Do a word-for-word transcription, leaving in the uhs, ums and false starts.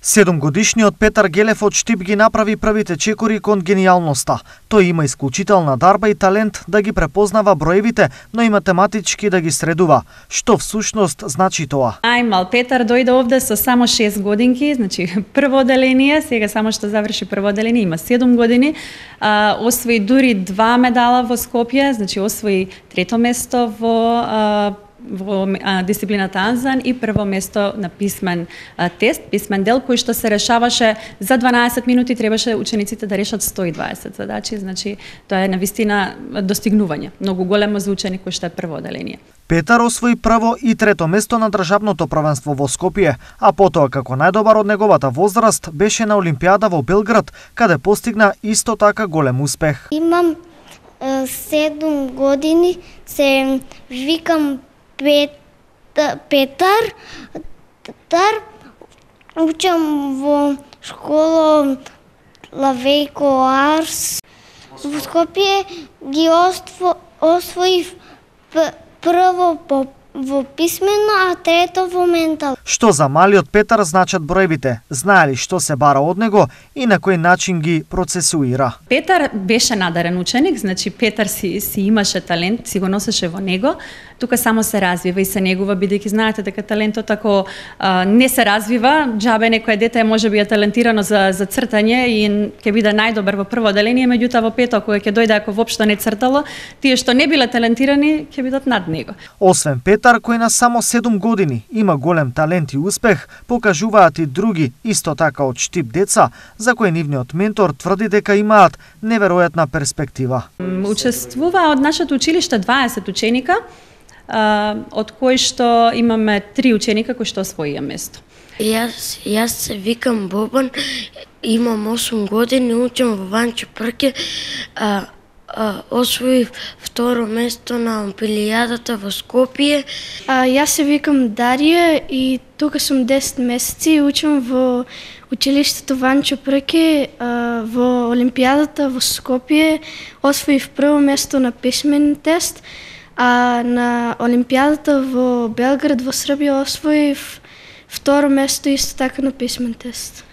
Седумгодишниот Петар Гелев од Штип ги направи првите чекори кон генијалноста. Тој има исклучителна дарба и талент да ги препознава броевите, но и математички да ги средува. Што всушност значи тоа? Најмал Петар дојде овде со само шест годинки, значи прво оделение, сега само што заврши прво оделение, има седум години, а, освои дури два медала во Скопје, значи освои трето место во а, во а, дисциплината Анзан и прво место на писмен а, тест, писмен дел кој што се решаваше за дванаесет минути, требаше учениците да решат сто и дваесет задачи, значи тоа е навистина достигнување, многу големо за ученик кој што е прво оделение. Петар освои прво и трето место на државното првенство во Скопје, а потоа како најдобар од неговата возраст беше на Олимпијада во Белград, каде постигна исто така голем успех. Имам е, седум години, се викам Пет, Петар, Петар, учам во школа Лавејко Арс. Во Скопје ги осво, освоив прво по, во писмено, а трето во ментал. Што за малиот Петар значат броевите? Знае ли што се бара од него и на кој начин ги процесуира? Петар беше надарен ученик, значи Петар си, си имаше талент, си го носеше во него. Тука само се развива и се негува, бидејќи знаете дека талентот ако а, не се развива, џабе некое дете можеби е талентирано за за цртање и ќе биде најдобар во прво оделение, меѓутоа во пето кога ќе дојде ако воопшто не цртало, тие што не биле талентирани ќе бидат над него. Освен Петар, кој на само седум години има голем талент и успех, покажуваат и други исто така од Штип деца, за кои нивниот ментор тврди дека имаат неверојатна перспектива. Учествува од нашето училиште дваесет ученика, од кои што имаме три ученика кои што освоија место. Јас, јас се викам Бобан, имам осум години, учам во Ванчо Прке, а, а, освоив второ место на Олимпијадата во Скопје. А, јас се викам Дарија и тука сум десет месеци, учам во училиштето Ванчо Прке, а, во Олимпијадата во Скопје, освоив прво место на писмен тест, а на Олимпијадата во Белград во Србија освоив второ место исто така на писмен тест.